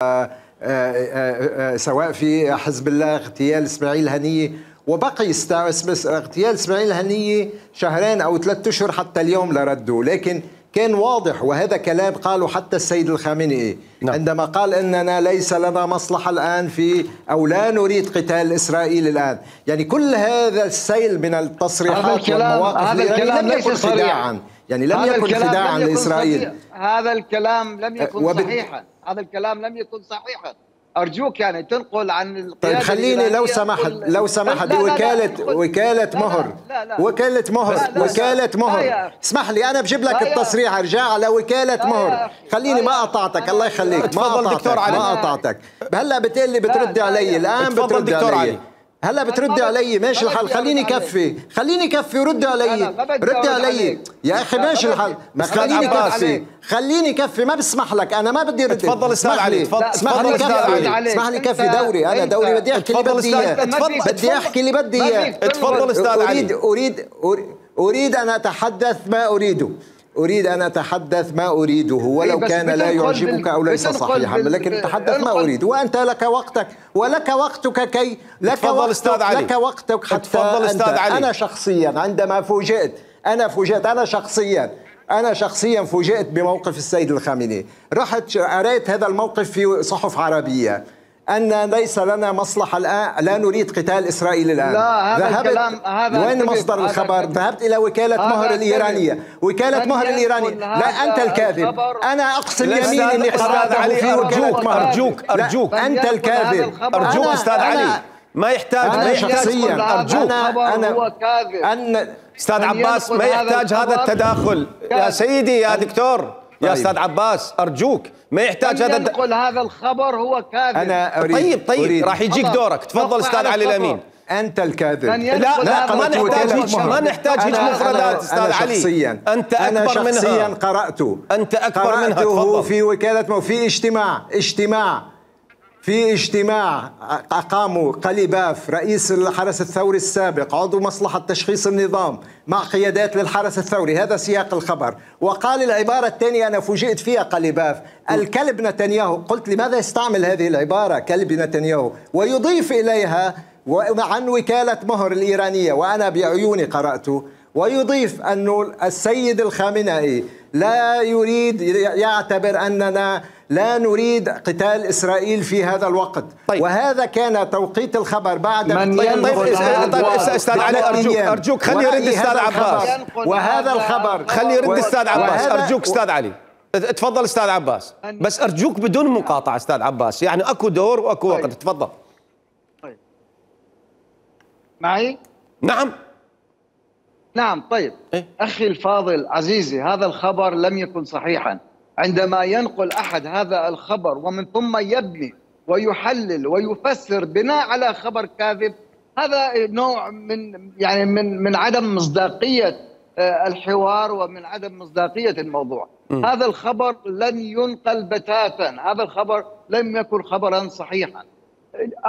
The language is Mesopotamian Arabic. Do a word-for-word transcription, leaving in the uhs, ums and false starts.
آآ آآ سواء في حزب الله اغتيال اسماعيل هنية، وبقي اغتيال اسماعيل هنية شهرين أو ثلاثة أشهر حتى اليوم لردوا، لكن كان واضح، وهذا كلام قاله حتى السيد الخامنئي نعم. عندما قال إننا ليس لنا مصلحة الآن في أو لا نريد قتال إسرائيل الآن. يعني كل هذا السيل من التصريحات والمواقف لم يكن خداعا، يعني لم يكن خداعا لإسرائيل. هذا الكلام لم يكن وبت... صحيحا، هذا الكلام لم يكن صحيحا. أرجوك يعني تنقل عن القيادة. طيب خليني لو سمحت لو سمحت وكالة وكالة مهر وكالة مهر وكالة مهر اسمح لي أنا بجيب لك التصريح، أرجع على وكالة مهر. خليني ما قطعتك، الله يخليك، ما قطعتك ما قطعتك. هلا بتقول لي بتردي علي الآن، بتردي علي هلا بتردي علي، ماشي الحال. خليني كفي خليني كفي ورد علي ردي علي يا اخي، ماشي الحال. ما خليني كفي خليني كفي ما بسمح لك، انا ما بدي رد. تفضل استاذ علي، اسمح لي كفي اسمح لي كفي دوري، انا دوري بدي احكي اللي بدي اياه، بدي احكي اللي بدي اياه. تفضل استاذ علي. اريد اريد اريد ان اتحدث ما اريده، أريد أن أتحدث ما أريده ولو كان لا يعجبك أو ليس صحيحا، لكن أتحدث ما أريد، وأنت لك وقتك ولك وقتك كي لك وقتك لك وقتك حتى أنت. أنا شخصيا عندما فوجئت أنا فوجئت أنا شخصيا أنا شخصيا فوجئت بموقف السيد الخامنئي، رحت قرأت هذا الموقف في صحف عربية أن ليس لنا مصلحة الآن، لا نريد قتال إسرائيل الآن. لا هذا الكلام هذا وين مصدر الخبر؟ ذهبت إلى وكالة مهر الإيرانية، وكالة مهر الإيرانية. لا أنت الكاذب، أنا أقسم يمين إني قرأته في وكالة مهر. أرجوك أرجوك أنت الكاذب، أرجوك أستاذ علي، ما يحتاج أنا ما يحتاج شخصيا أرجوك أنا هو كاذب. أن أستاذ عباس ما يحتاج هذا التداخل يا سيدي يا دكتور يا استاذ عباس، ارجوك ما يحتاج هذا ينقل هذا الخبر هو كاذب. انا أريد طيب طيب أريد. راح يجيك دورك، تفضل استاذ علي الامين. انت الكاذب. لا لا ما نحتاج هيك ما نحتاج هيك مفردات استاذ أنا علي. شخصيا انت اكبر أنا شخصيا منها. قرأته انت اكبر منها. قرأته في وكالة في اجتماع اجتماع في اجتماع أقاموا قليباف رئيس الحرس الثوري السابق عضو مصلحة تشخيص النظام مع قيادات للحرس الثوري، هذا سياق الخبر. وقال العبارة الثانية أنا فوجئت فيها قليباف، الكلب نتنياهو. قلت لماذا يستعمل هذه العبارة كلب نتنياهو؟ ويضيف إليها عن وكالة مهر الإيرانية، وأنا بعيوني قرأته، ويضيف أنه السيد الخامنئي لا يريد، يعتبر أننا لا نريد قتال إسرائيل في هذا الوقت. طيب. وهذا كان توقيت الخبر بعد من طيب طيب استاذ علي ارجوك ارجوك خلي يرد استاذ عباس. وهيرد الخبر خلي يرد استاذ عباس ارجوك استاذ علي. تفضل استاذ عباس، بس ارجوك بدون مقاطعه استاذ عباس، يعني اكو دور واكو وقت. تفضل. طيب معي؟ نعم نعم. طيب إيه؟ اخي الفاضل عزيزي، هذا الخبر لم يكن صحيحا. عندما ينقل أحد هذا الخبر ومن ثم يبني ويحلل ويفسر بناء على خبر كاذب، هذا نوع من يعني من من عدم مصداقية الحوار ومن عدم مصداقية الموضوع. م. هذا الخبر لن ينقل بتاتا، هذا الخبر لم يكن خبرا صحيحا.